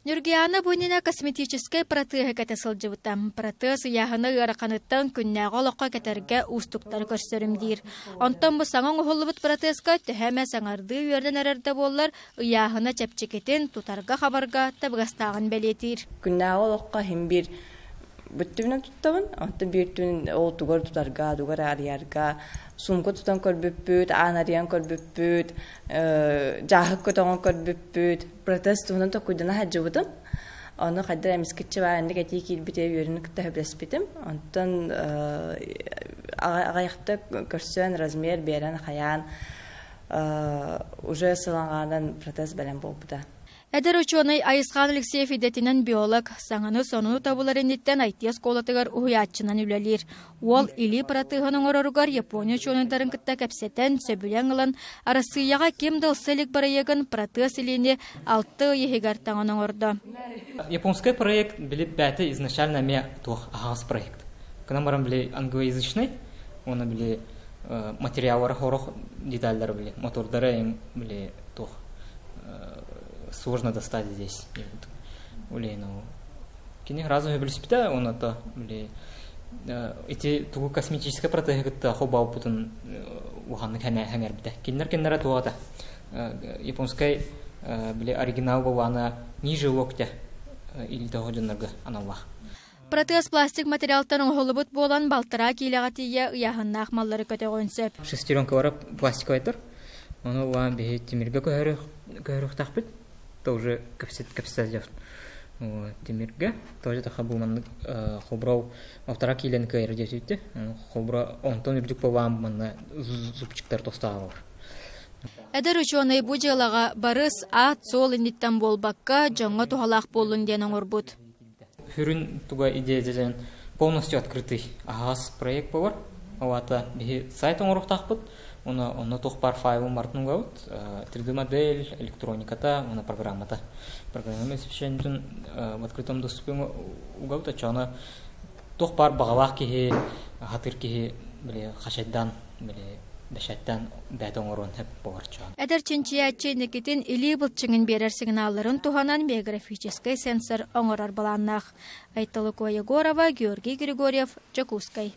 Ньургуйаана Бунина косметическай протеһы кэтэ сылдьыбыта. Протез ыйааһына ыараханыттан күннээҕи олоххо кэтэргэ уустуктары көрсөрүм диир. Онтон бу саҥа оҥоһуллубут протезка төһө эмэ саҥардыы үөрдэн эрэр да буоллар, ыйааһына чэпчэкитин, тутарга-хабарга табыгастааҕын бэлиэтиир. Күннээҕи олоххо иһин биир бүттүбүнэн туттабын, онтон биир түн ол тугар тутарга, тугар арыйарга сумка тутан көрбүппүт, аан арыйан көрбүппүт, дьааһык көтөҕөн көрбүппүт, протез туһунан токуйдана сылдьыбытым. Ону хайдах эмискэччи бааннык этии киирбитэ үөрүүнү кытта сөбүлэспитим. Онтон аҕыйахта көрсөн размер биэрэн хайаан уже сылаҥаанан протез бэлэм буолбута. Эдэр учуонай Айысхан Алексеев идэтинэн биолог, саҥаны сонуну тобулар инниттэн IT оскуолатыгар уһуйааччынан үлэлиир. Уол илии протеһын оҥороругар Япония учуонайдарын кытта кэпсэтэн, сөбүлэҥ ылан, Арассыыйаҕа ким да ылса илик бырайыагын протез илиини алта ый иһигэр таҥан оҥордо. Японский проект били бэйэтэ изначально эмиэ туох аһаҕас проект. Гынан баран били англоязычный, уонна били материаллара сорох деталлары били мотордара били туох сложно достать здесь. Улейну кини сразу сөбүлэспитэ уонна то били ити тугу косметическай протеһы кытта холбооппутун улаханнык сэҥээрбитэ. Кинилэр кинилэрэ туох японскай били оригинал буоллаҕына ниже локтя илдьэ дьоннорго аналлаах. Протез пластик материалтан оҥоһуллубут буолан балтараа киилэҕэ тиийэ ыйааһыннаах маллары көтөҕүөн сөп. Шестеренкалара пластиковайтар. Ону улахан биһи тимиргэ көһөрүөхтаахпыт. То уже кэпсэтэ тимиргэ. Тоже таха бу маннык холборо полтора киилэни кыайар диэбитэ. Холборо онтон үрдүк буолаан манна зубчиктар тостаалар. Эдэр учуонай бу дьыалаҕа барыс, аат-суол инниттэн буолбакка, дьоҥҥо туһалаах буоллун диэн оҥорбут. Сүрүн туга идея дьэн полностью открытый аһаҕас проект буолар. Ол аата биһи сайт оҥоруохтаахпыт. Уонна онно туох баар файлын барытын угабыт. 3D модель, электрониката уонна программата. Программа освещениетын в открытом доступе угабыт. Оччоҕуна туох баар баҕалаах киһи, хатыр киһи били хачайдаан били бэчээттэн бэйэтэ оҥоруон сөп буолар. Эдэр чинчийээччи инникитин илии былчыҥын биэрэр сигналларын туһанан биографическай сенсор оҥорор былааннаах. Айталыкова Егорова, Георгий Григорьев, Дьокуускай.